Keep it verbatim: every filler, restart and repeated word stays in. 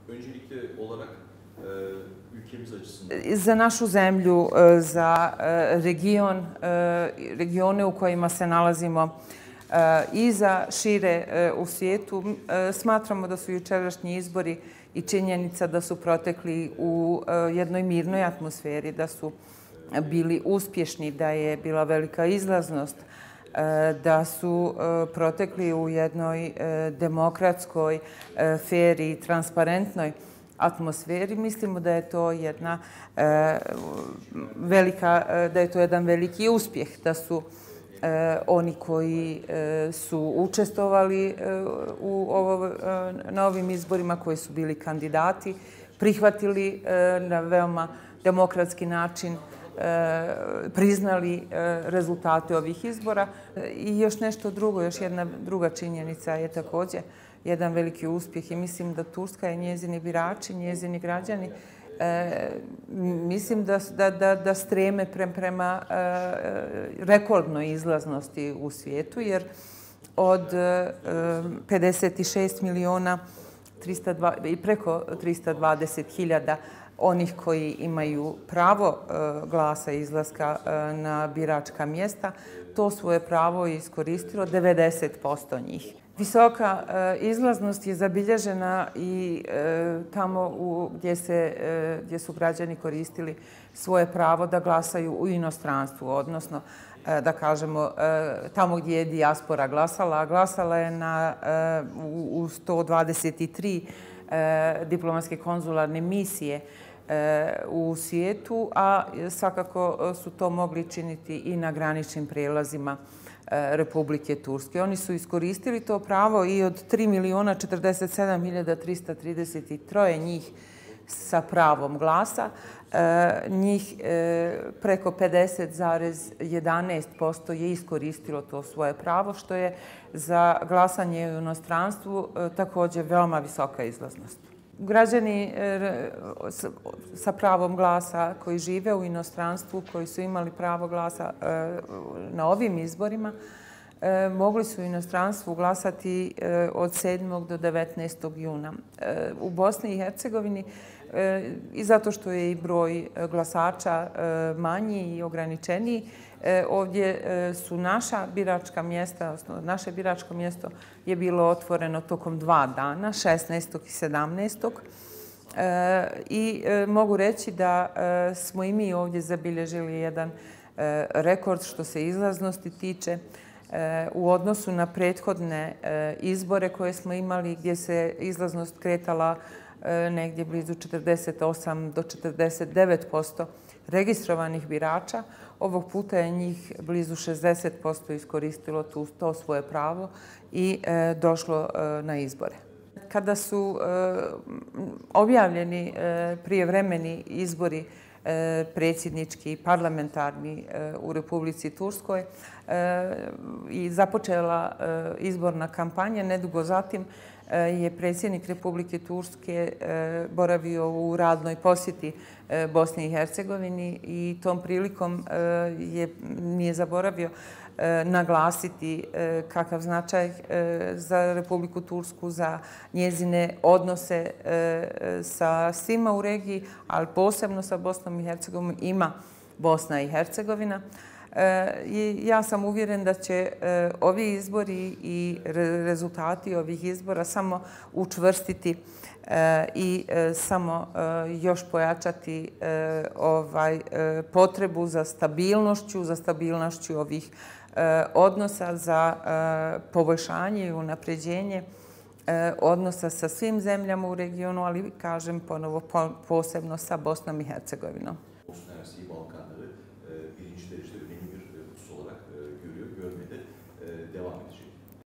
Öncelikle olarak ülkemiz açısından... Za našu zemlju, za region, regione u kojima se nalazimo i za šire u svijetu, smatramo da su jučerašnji izbori i činjenica da su protekli u jednoj mirnoj atmosferi, da su bili uspješni, da je bila velika izlaznost, da su protekli u jednoj demokratskoj, fer i transparentnoj atmosferi. Mislimo da je to jedna velika, da je to jedan veliki uspjeh, da su oni koji su učestvovali u ovo, na ovim izborima, koji su bili kandidati, prihvatili na veoma demokratski način, priznali rezultate ovih izbora. I još nešto drugo, još jedna druga činjenica je također jedan veliki uspjeh i mislim da Turska i njezini birači, njezini građani, mislim da streme prema rekordnoj izlaznosti u svijetu, jer od pedeset šest miliona i preko trista dvadeset hiljada onih koji imaju pravo glasa i izlaska na biračka mjesta, to svoje pravo je iskoristilo devedeset posto njih. Visoka izlaznost je zabilježena i tamo gdje su građani koristili svoje pravo da glasaju u inostranstvu, odnosno da kažemo tamo gdje je dijaspora glasala. Glasala je u sto dvadeset tri diplomatske konzularne misije u svijetu, a svakako su to mogli činiti i na graničnim prijelazima Republike Turske. Oni su iskoristili to pravo i od tri miliona četrdeset sedam hiljada trista trideset tri njih sa pravom glasa, njih preko pedeset zarez jedanaest posto je iskoristilo to svoje pravo, što je za glasanje u inostranstvu također veoma visoka izlaznost. Građani sa pravom glasa koji žive u inostranstvu, koji su imali pravo glasa na ovim izborima, mogli su u inostranstvu glasati od sedmog do devetnaestog juna. U Bosni i Hercegovini, i zato što je i broj glasača manji i ograničeniji, ovdje su naša biračka mjesta, odnosno naše biračko mjesto je bilo otvoreno tokom dva dana, šesnaestog i sedamnaestog I mogu reći da smo i mi ovdje zabilježili jedan rekord što se izlaznosti tiče u odnosu na prethodne izbore koje smo imali, gdje se izlaznost kretala negdje blizu četrdeset osam do četrdeset devet posto registrovanih birača. Ovog puta je njih blizu šezdeset posto iskoristilo to svoje pravo i došlo na izbore. Kada su objavljeni prijevremeni izbori predsjednički i parlamentarni u Republici Turskoj i započela izborna kampanja, nedugo zatim je predsjednik Republike Turske boravio u radnoj posjeti Bosni i Hercegovini i tom prilikom nije zaboravio naglasiti kakav značaj za Republiku Tursku, za njezine odnose sa svima u regiji, ali posebno sa Bosnom i Hercegovinom ima Bosna i Hercegovina. Ja sam uvjeren da će ovi izbori i rezultati ovih izbora samo učvrstiti i samo još pojačati potrebu za stabilnošću, za stabilnošću ovih odnosa, za poboljšanje i unapređenje odnosa sa svim zemljama u regionu, ali kažem ponovo posebno sa Bosnom i Hercegovinom. Bosna Hersek'i Balkanları birinci derecede önemli bir husus olarak görüyor, görmede devam edecek.